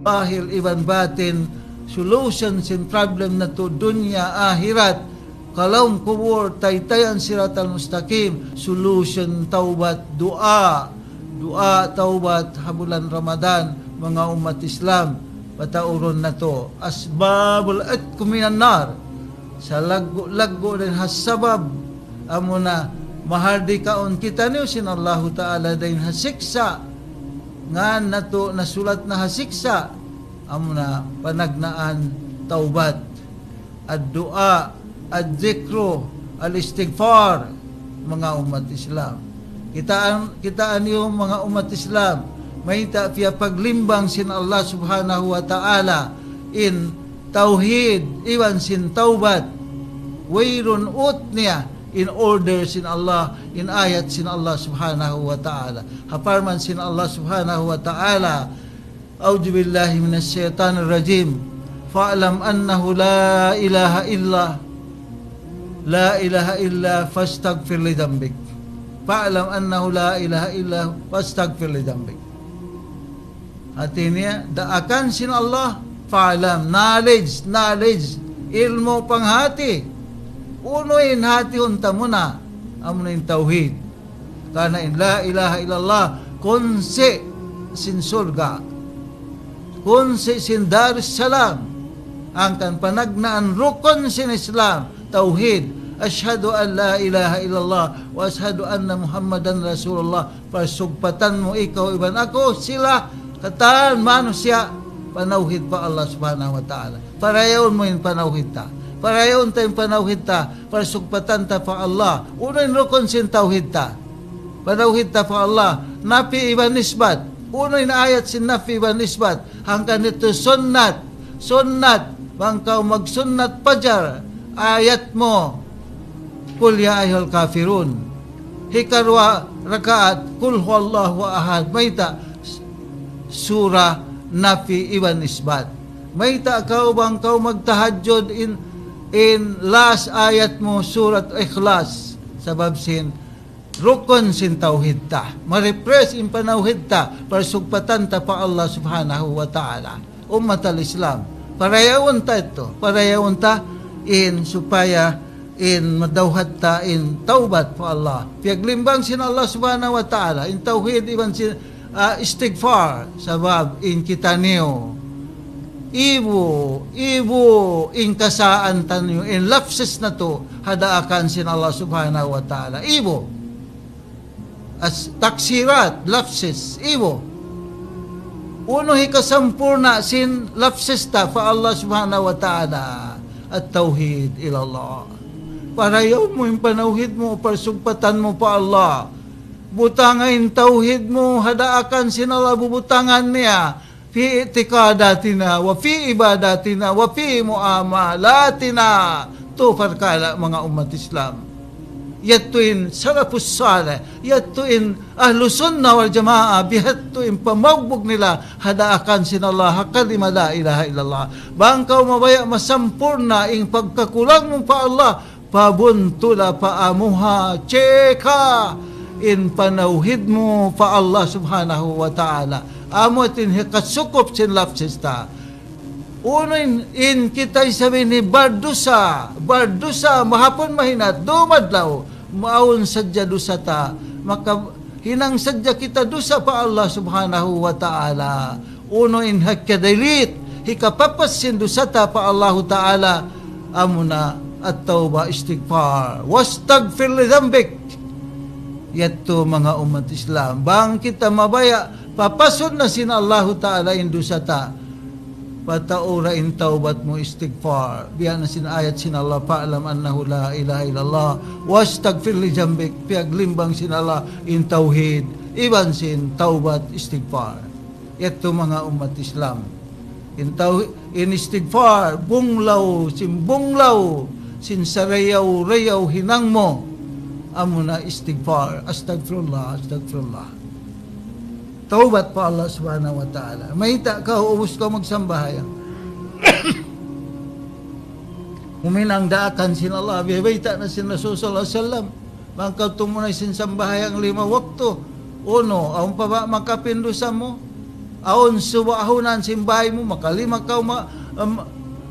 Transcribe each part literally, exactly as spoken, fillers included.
Zahir iban batin, solution sin problem natu' dunya akhirat, kalam kubul, taytayan siratal mustaqim, solution tawbat, duwaa, duwaa tawbat ha bulan Ramadan, manga ummat Islam, pataurun natu'. Asbabul itq minan nar, salaggu'-laggu' dayn ha sabab, amuna mahardikaun kitaniyu sin Allahu Ta'ala dayn ha siksa', ngan natu' nasulat na ha siksa', amuna panagnaan tawbat, ad-duwaa, ad-dikru, al-istighfar, manga ummat Islam. Kitaan, kitaan niyu manga ummat Islam, mayta' piyapaglimbang sin Allah Subhanahu wa Ta'ala in tawhid iban sin tawbat. Wayruun ut niya in order sin Allah, in ayat sin Allah Subhanahu wa Ta'ala. Ha parman sin Allah Subhanahu wa Ta'ala, أعوذ بالله من الشيطان الرجيم. فاعلم أنه لا إله إلا، لا إله إلا فاستغفر لذنبك. فاعلم أنه لا إله إلا فاستغفر لذنبك. Hati niya, daakan sin Allah, fa'lam, knowledge, knowledge, ilmu' panghati. Unu in hatihun ta muna, amuna in tawhid. Karna' in la ilaha illallah, kunsi' sin surga', kunsi' sin Darussalam, hangkan panagnaan rukun sin Islam, tawhid. أشهد أن لا إله إلا الله وأشهد أن محمدا رسول الله. Parsugpatan mu ikaw iban aku, sila katan manusiya', panawhid pa Allah Subhanahu wa Ta'ala. Parayawun mu in panawhid ta. Parayawun ta in panawhid ta, parsugpatan ta pa Allah. Unu in rukun sin tawhid ta? Panawhid ta pa Allah. Nafi iban isbat. Unu in ayat sin nafi iban isbat? Hangkan yadtu sunnat. Sunnat. Bang kaw magsunnat pajar, ayat mu, قل يا أيها الكافرون. Hikaruwa rakaat, قل هو الله أحد. Mayta'? Surah nafi iban isbat. Mayta' kaw bang kaw magtahajjud in, in last ayat mu Surat Ikhlas. Sabab sin rukun sin tawhid ta. Ma-refresh in panawhid ta, parsugpatan ta pa Allah Subhanahu wa Ta'ala. Ummat al-Islam, parayawun ta yadtu, parayawun ta in supaya in madawhat ta in tawbat pa Allah. Piyaglimbang sin Allah Subhanahu wa Ta'ala in tawhid iban sin, ah, istighfar, sabab in kitaniyu ibu, ibu in kasaan taniyu, in lapses natu' ha daakan sin Allah Subhanahu wa Ta'ala. Ibu. As-, taksirat, lapses, ibu. Unu hikasampurna' sin lapses ta pa Allah Subhanahu wa Ta'ala? At-tawhid ilallah. Parayawun mu in panawhid mu, parsugpatan mu pa Allah. Butanga in tawhid mu ha daakan sin Allah, bubutangan niya. في اعتقاداتنا وفي عباداتنا وفي معاملاتنا. Tu parkala' manga ummat Islam. Yadtu in salafus salih, yadtu in ahlu sunnah wal jamaah, bihadtu in pamaugbug nila ha daakan sin Allah, ha kalima la ilaha illallah. Bang kaw mabaya' masampurna' in pagkakulang mu pa Allah, pabuntula pa amuha, cheka, in panawhid mu pa Allah Subhanahu wa Ta'ala. Amu in hikasukup sin lapses ta. Unu in, in kita isab ini bardusa, bardusa, mahapun mahinat, dumadlaw, maawn sadja dusa ta, maka hinang sadja kita dusa pa Allah Subhanahu wa Ta'ala. Unu in hikka-delete, hikapapas sin dusa ta pa Allahu Ta'ala, amuna at-tawbah, istighfar. واستغفر لذنبك. Yadtu manga ummat Islam. Bang kita mabaya', papasun na sin Allahu Ta'ala in dusa ta. Pataura in tawbat mu, istighfar. Biya' na sin ayat sin Allah, فاعلم أنه لا إله إلا الله واستغفر لذنبك. Piyaglimbang sin Allah in tawhid, iban sin tawbat, istighfar. Yadtu manga ummat Islam. In taw-, in istighfar, bunglaw, sin bunglaw, sin sarayaw-rayaw hinang mu. Amuna istighfar, astagfirullah, astagfirullah. Tawbat pa Allah Subhanahu wa Ta'ala. Mayta' kaw ubus kaw magsambahayang, huminang daakan sin Allah, biya' bayta' na sin Rasul sallallahu alayhi wasallam. Bang kaw tumunay sin sambahayang lima waktu, unu, awn pa ba makapin dusa mu? Awn suba ahunan sin bāy mu, makalima kaw ma-, um,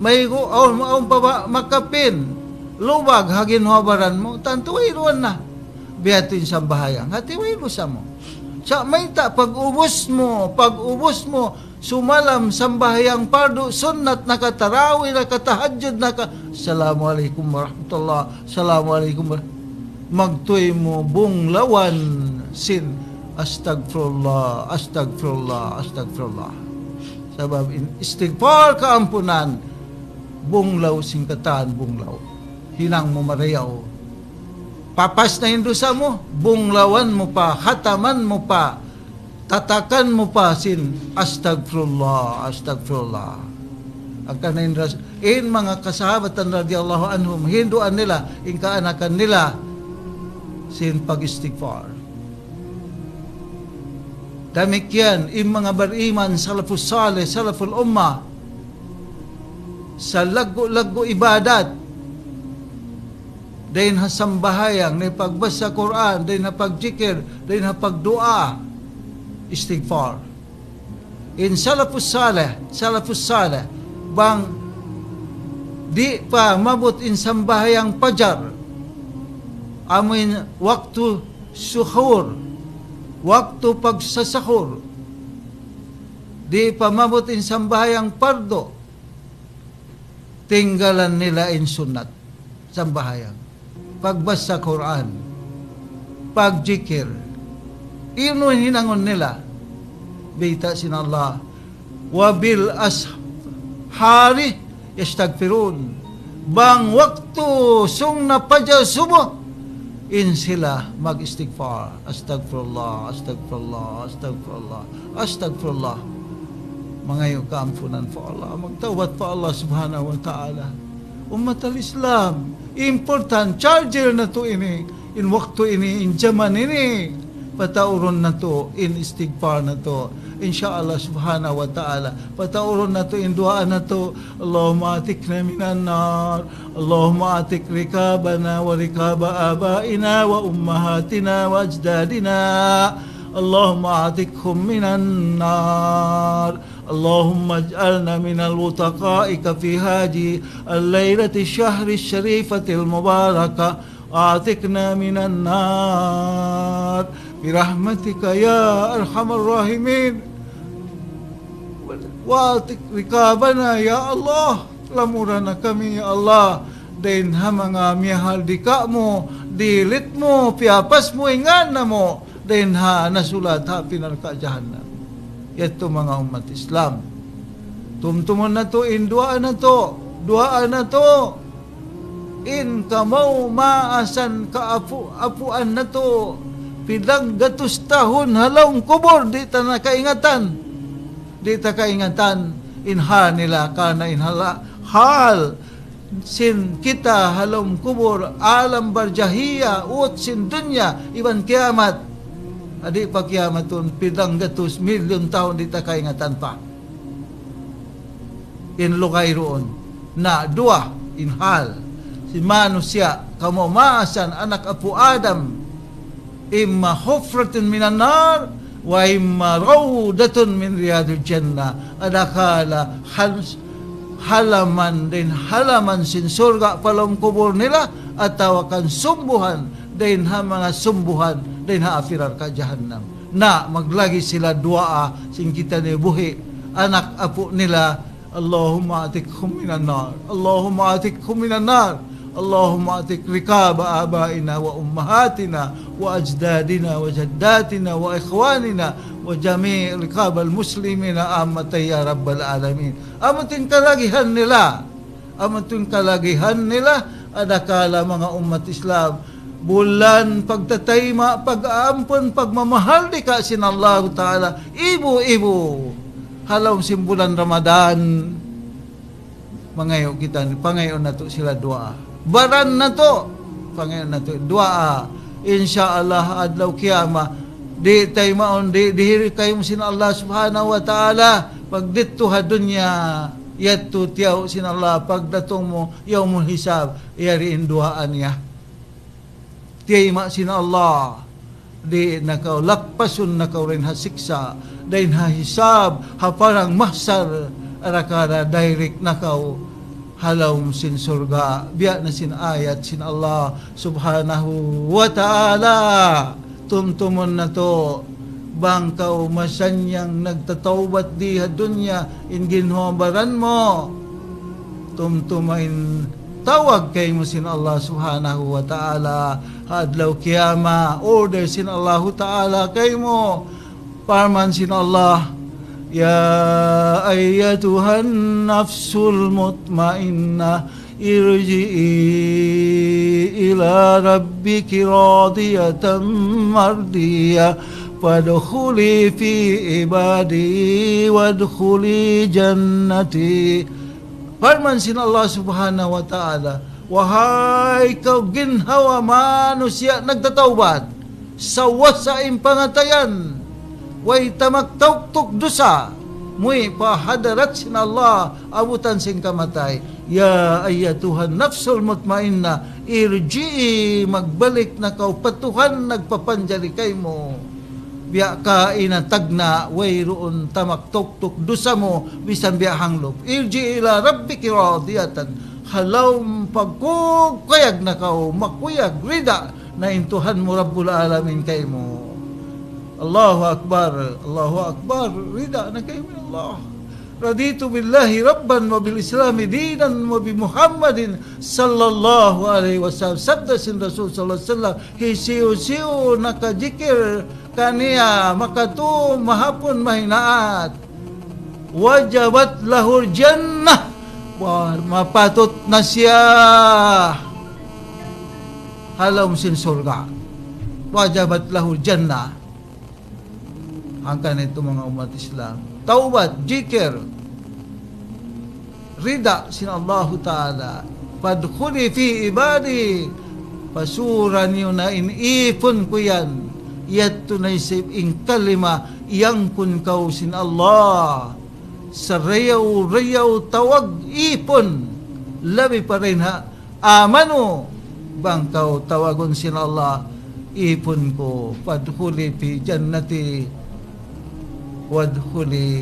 maigu, awn, awn pa ba makapin. Lubag ha ginhawa-baran mu, tantu wayruun na. Biya' ha yan in sambahayang. Hāti wayruun sa mu. Sa' mayta' pag-ubus mu, pag-ubus mu, sumalam sambahayang pardu, sunnat, nakatarawi, nakatahajjud, naka-, Assalamu alaykum warahmatullah, Assalamu alaykum warah-, magtuy mu bunglawan sin astagfirullah, astagfirullah, astagfirullah. Sabab in istighfar kaampunan, bunglaw sin katan bunglaw. Hinang mu marayaw. Papas na in dusa mu, bunglawan mu pa, khataman mu pa, tatakan mu pa sin, "Astagfirullah, astagfirullah." Hangkan in ras-, in manga kasahabatan radiyallahu anhum, hinduan nila, in kaanakan nila, sin pag-istighfar. Damikkiyan, in manga bariman, salafus salih, salaful ummah, sa laggu'-laggu' ibadat, dayn ha sambahayang, dayn ha pagbasa Qur'an, dayn ha pagjikir, dayn ha pagduwaa, istighfar. In salafus salih, salafus salih, bang di' pa maabut in sambahayang pajar, amu in waktu suhur, waktu pagsasahur, di' pa maabut in sambahayang pardu, tinggalan nila in sunnat sambahayang, pagbasa Qur'an, pagjikir. Unu in hinangun nila? Bayta' sin Allah, "Wa bil ashari yastagfirun." Bang waktu sung na pajar subuh, in sila mag-istighfar. Astagfirullah, astagfirullah, astagfirullah, astagfirullah. Mangayu' kaampunan pa Allah, magtawbat pa Allah subhanahu wa ta'ala. Ummat al-Islam, important, charger natu' ini, in waktu ini, in jaman ini, pataurun natu', in istighfar natu'. Insha Allah subhanahu wa ta'ala, pataurun natu', in duwaa natu', اللهم أعتقنا من النار، اللهم أعتق رقابنا ورقاب آبائنا وأمهاتنا وأجدادنا، اللهم أعتقهم من النار، اللهم اجعلنا من العتقاء في هذه الليلة الشهر الشريفة المباركة، أعتقنا من النار برحمتك يا أرحم الراحمين. وأعتق رقابنا يا الله. Lamura na kami, ya Allah, dayn ha manga miyahardika mu, dihilit mu, piyapas mu in ngan namu', dayn ha nasulat ha api narka' jahannam. Yadtu manga ummat Islam. Tumtumun natu' in duwaa natu', duwaa natu'. In kamaas-maasan kaapu'-apuan natu', pila gatus tahun ha lawm kubul, di' ta na kaingatan. Di' ta kaingatan in hal nila, karna' in hala-, hal sin kita ha lawm kubul, alam barzakhiyah, ut sin dunya, iban kiyamat. Di' pa kiyamatun, pila gatus milyun tahun di' ta kaingatan pa. In lugay duun. Na duwa in hal. Sin manusiya', kamaas-maasan, anak apu' Adam, إما حفرة من النار وإما روضة من رياض الجنة. Adakala hal-, halaman dayn halaman sin surga' pa lawm kubul nila, atawa kan sumbuhan dayn ha manga sumbuhan dayn ha api narka' jahannam. Na maglagi' sila duwaa sin kitaniyu buhi', anak apu' nila, اللهم أعتقهم من النار، اللهم أعتقهم من النار، اللهم أعتق رقاب آبائنا وأمهاتنا وأجدادنا وجداتنا وإخواننا وجميع رقاب المسلمين عامة يا رب العالمين. Amu in kalagihan nila. Amu in kalagihan nila, adakala manga ummat Islam, bulan pagtataima', pag-aampun, pagmamahardika sin Allahu Ta'ala, ibu-ibu. Ha lawm sin bulan Ramadan, mangayu' kita, pangayu' natu' sila duwaa. Baran natu', pangayu' natu' duwaa. Insya Allah, adlaw kiyamat, di' taymaun, di', dihil kaymu sin Allah Subhanahu wa Ta'ala, pagdidtu ha dunya, yadtu tiyaw sin Allah, pagdatung mu, yawmul hisab, yari in duwaa niya. Tiyayma' sin Allah. Di' na kaw, lakpasun na kaw dayn ha siksa', dayn ha hisab, ha parang mahsar, arakala' direct na kaw ha lawm sin surga'. Biya' na sin ayat sin Allah Subhanahu wa Ta'ala. Tumtumun natu', bang kaw masannyang nagtatawbat di ha dunya, in ginhawa-baran mu. Tumtuma in tawag kaymu sin Allah Subhanahu wa Ta'ala. Ha adlaw kiyamat, order sin Allahu Ta'ala kaymu. Parman sin Allah, يا أيتها النفس المطمئنة ارجعي إلى ربك راضية مرضية فادخلي في عبادي وادخلي جنتي. Parman sin Allah Subhanahu wa Ta'ala, "Wahai kaw ginhawa manusiya' nagtatawbat, sawasa in pangatayan, way tamak tauktuk dusa, muwi' pa hadarat sin Allah, abutan sin kamatay. يا أيتها النفس المطمئنة ارجعي, magbalik na kaw pa Tuhan nagpapanjari kaymu." Biya' kaina tagna', wayruun tamak tauktuk dusa mu, misan biya' hanglup. ارجعي إلى ربك راضية. Ha lawm pagkukuyag na kaw, makuyag, rida na in Tuhan mu Rabbul Alamin kaymu. Allahu Akbar, Allahu Akbar, rida na kaymu Allah. رضيت بالله ربا وبالإسلام دينا وبمحمد صلى الله عليه وسلم. Sabda sin Rasul sallallahu alayhi wasallam, hisiyu-siyu nakajikir kaniya makatu mahapun mahinaat, وجبت له الجنة. Wa, mapatut na siya ha lawm sin surga'. وجبت له الجنة. Hangkan itu manga ummat Islam. Tawbat, jikir, rida sin Allahu Ta'ala. فادخلي في عبادي. Pasura niyu na in ipun ku yan. Yadtu na isab in kalima, iyangkun kaw sin Allah. Sarayaw-rayaw tawag ipun. Labi pa dayn ha آمنوا, bang kaw tawagun sin Allah, ipun ku, فادخلي في جنتي, وادخلي,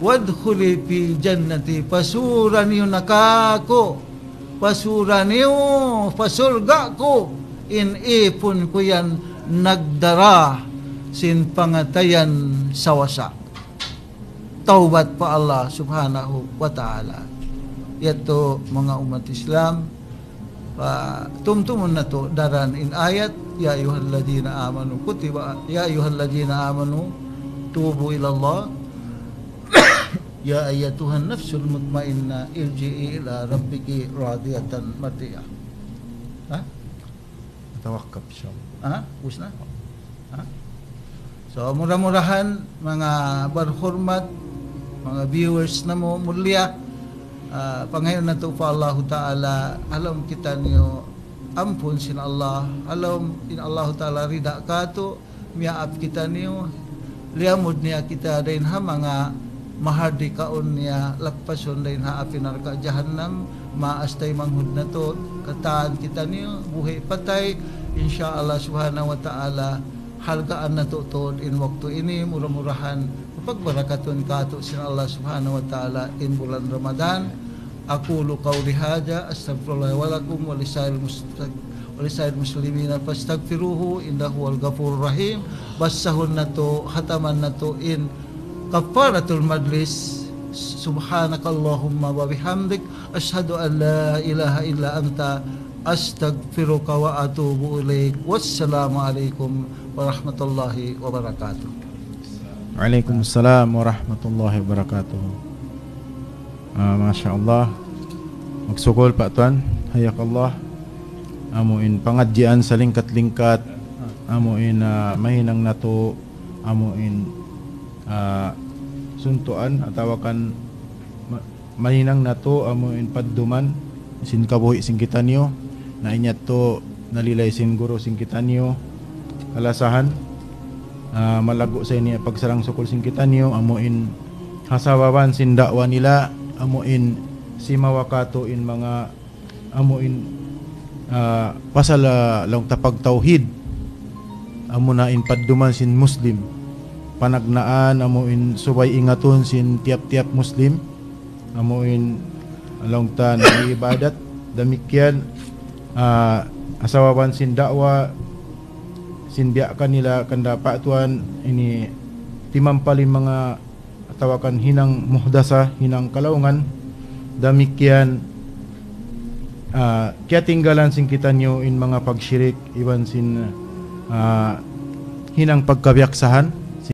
وادخلي في جنتي, pasura niyu na kāku', pasura niyu pa surga' ku, in ipun ku yan nagdara sin pangatayan sawasa. Tawbat pa Allah Subhanahu wa Ta'ala. Yadtu manga ummat Islam, pa tumtumun natu' daran in ayat, يا أيها الذين آمنوا كتب، يا أيها الذين آمنوا توبوا إلى الله، يا أيتها النفس المطمئنة ارجعي إلى ربك راضية مرضية. Ha? Tawakkaf, insya Allah. Ha? Ubus na? Ha? So, mura-murahan, manga barhurmat, manga viewers namu' mulia, ah, pangayuun natu' pa Allahu Ta'ala, ha lawm kitaniyu ampun sin Allah, ha lawm in Allahu Ta'ala rida kātu', miyaap kitaniyu, liyamud niya kita dayn ha manga mahardikaun niya, lakpasun dayn ha api narka' jahannam, maas taymanghud natu', katān kitaniyu, buhi' patay, insya Allah Subhanahu wa Ta'ala, halgaan natu' tuud in waktu ini, mura-murahan, pagbarakatun kātu' sin Allah Subhanahu wa Ta'ala in bulan Ramadan. أقول قولي هذا، أستغفر الله ولكم ولسائر المس-، ولسائر المسلمين فاستغفروه إنه هو الغفور الرحيم. Basahun natu', hataman natu' in kaffaratul majlis. سبحانك اللهم وبحمدك، أشهد أن لا إله إلا أنت، أستغفرك وأتوب إليك. والسلام عليكم ورحمة الله وبركاته. وعليكم السلام ورحمة الله وبركاته. Ah, masha Allah. Magsukul pa tuwan. Hayakallah. Amu in pangadjian salingkat-lingkat. Amu in, ah, mahinang natu', amu in, ah, suntuan atawa kan ma-, mahinang natu' amu in padduman sin kabuhi' sin kitaniyu, na in yadtu nalilay sin guru sin kitaniyu, kalasahan, ah, malaggu' sa ini pagsarang-sukul sin kitaniyu, amu in ha sababan sin da'wa nila, amu in simawa katu' in manga, amu in, ah, pasal, ah, laung ta pagtawhid. Amuna in padduman sin Muslim. Panagnaan amu in subay ingatun sin tiyap-tiyap Muslim. Amu in laung ta nag-iibadat. Damikkiyan, ah, ha sababan sin da'wa, sin biya' kanila kanda pa tuan ini timampal in manga atawa kan hinang muhdasa, hinang kalaungan, damikkiyan, ah, kiyatinggalan sin kitaniyu in manga pagshirik, iban sin, ah, hinang pagkabiyaksahan.